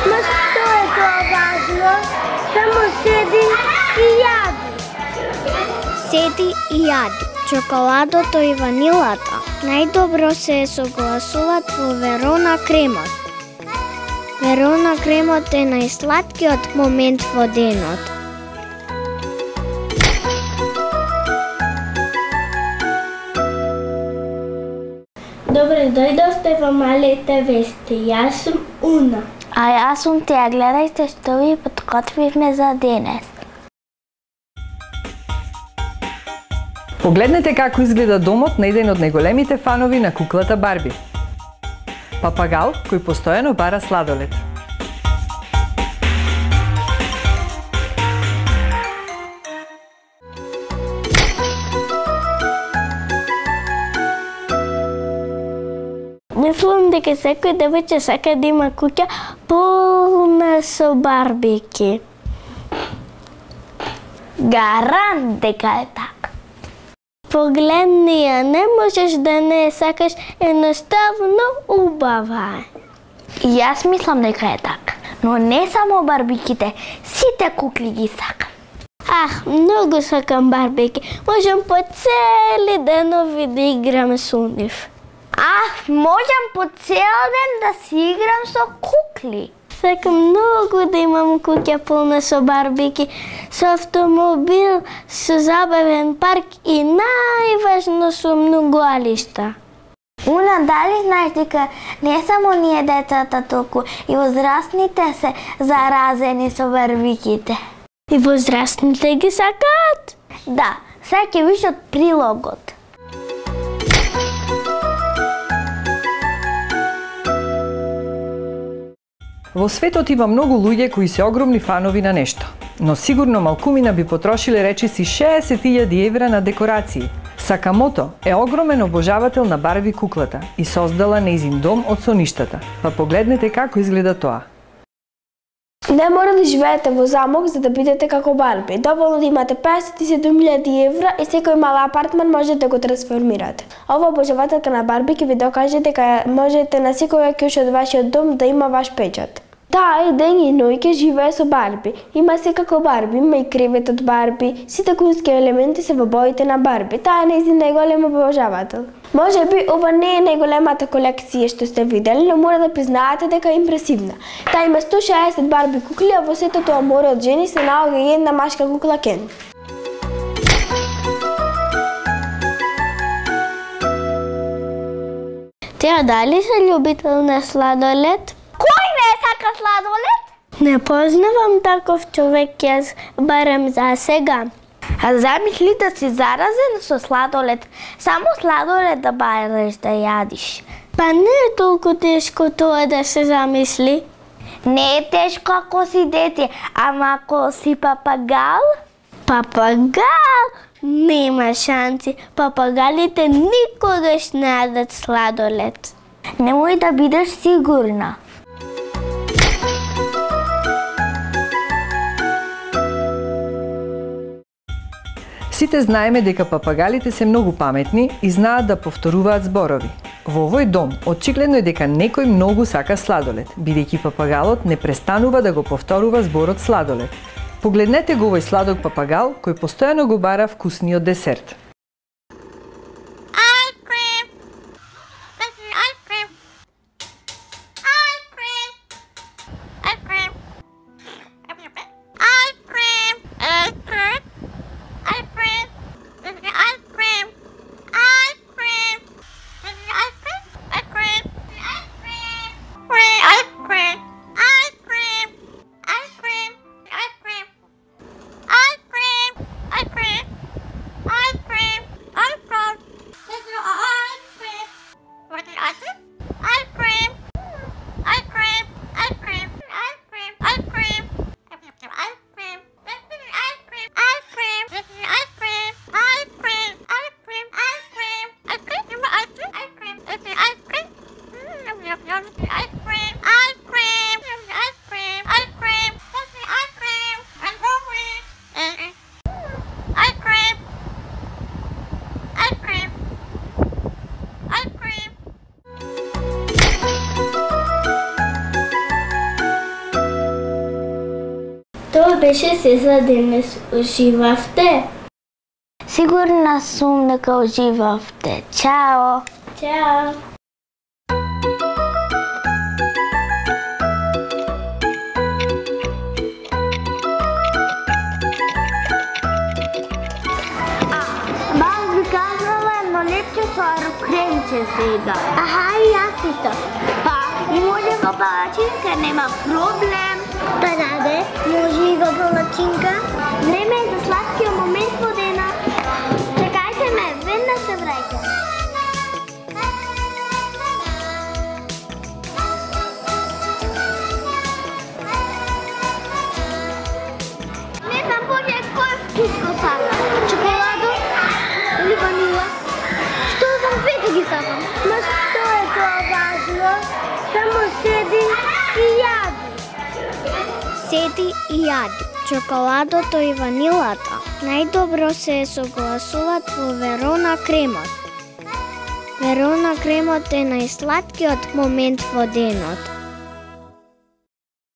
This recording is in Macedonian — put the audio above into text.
Ма што е тоа важно? Само седи и јади. Седи и јади. Чоколадото и ванилата најдобро се согласуваат во Верона кремот. Верона кремот е најслаткиот момент во денот. Добре, дојдовте во Малите вести. Јас сум Уна. А јас сум Теја. Гледајте што ви подготвивме за денес. Погледнете како изгледа домот на еден од најголемите фанови на куклата Барби. Папагал кој постојано бара сладолед. Мислам дека секој девојче сака да има куќа полна со барбики. Гарант дека е така. Погледни ја, не можеш да не сакаш, едноставно убава е. И јас мислам дека е така. Но не само барбиките, сите кукли ги сакам. Ах, многу сакам барбики. Можам по цели денови да играм со нив. Можам по цел ден да си играм со кукли. Сакам многу да имам куќа полна со барбики, со автомобил, со забавен парк и најважно со многу алишта. Уна, дали знаеш дека не само ние децата толку и возрастните се заразени со барбиките? И возрастните ги сакаат? Да, сега ќе виш од прилогот. Во светот има многу луѓе кои се огромни фанови на нешто, но сигурно малкумина би потрошиле речиси 60.000 евра на декорации. Сакамото е огромен обожавател на Барби куклата и создала нејзин дом од соништата. Па погледнете како изгледа тоа. Не мора да живеете во замок за да бидете како Барби. Доволно да имате 57.000 евра и секој мал апартман може да го трансформирате. Ова обожавателка на Барби ќе ви докаже дека можете на секоја кјуш од вашиот дом да има ваш печат. Таа ден и ноќе живее со Барби. Има секако Барби, има и кревет од Барби. Сите кунски елементи се во боите на Барби. Таа е нејзин најголем обожавател. Може би ова не е најголемата колекција што сте видели, но мора да признаете дека е импресивна. Таа има 160 Барби кукли, а во сето тоа море од жени се наоѓа и една машка кукла Кен. Теја, дали се љубител на сладолед? Кој не сака сладолед? Не познавам таков човек, јас барам за сега. А замисли да си заразен со сладолед, само сладолед да бараш да јадиш. Па не е толку тешко тоа да се замисли. Не е тешко ако си дете, ама ако си папагал? Папагал? Нема шанси. Папагалите никогаш не јадат сладолед. Немој да бидеш сигурна. Сите знаеме дека папагалите се многу паметни и знаат да повторуваат зборови. Во овој дом, очигледно е дека некој многу сака сладолед, бидејќи папагалот не престанува да го повторува зборот сладолед. Погледнете го овој сладок папагал кој постојано го бара вкусниот десерт. Ice cream! Тоа беше се за денес. Уживавте? Сигурна сум дека уживавте. Чао! Чао! Баш би казала едно лепче со арукренче сега. Аха, и јас исто. Па, и може во палачинка, нема проблем. Па даде, може и во палачинка. Време е за сладкиот момент во денот. Чекајте ме, веднаш се враќам. Не знам поќе кој вкус го сакам. Чоколадо или ванила? Што знам, двете ги сакам. Ма што е тоа важно? Само седи и јади. Седи и јади. Чоколадото и ванилата најдобро се согласуваат во Верона кремот. Верона кремот е најсладкиот момент во денот.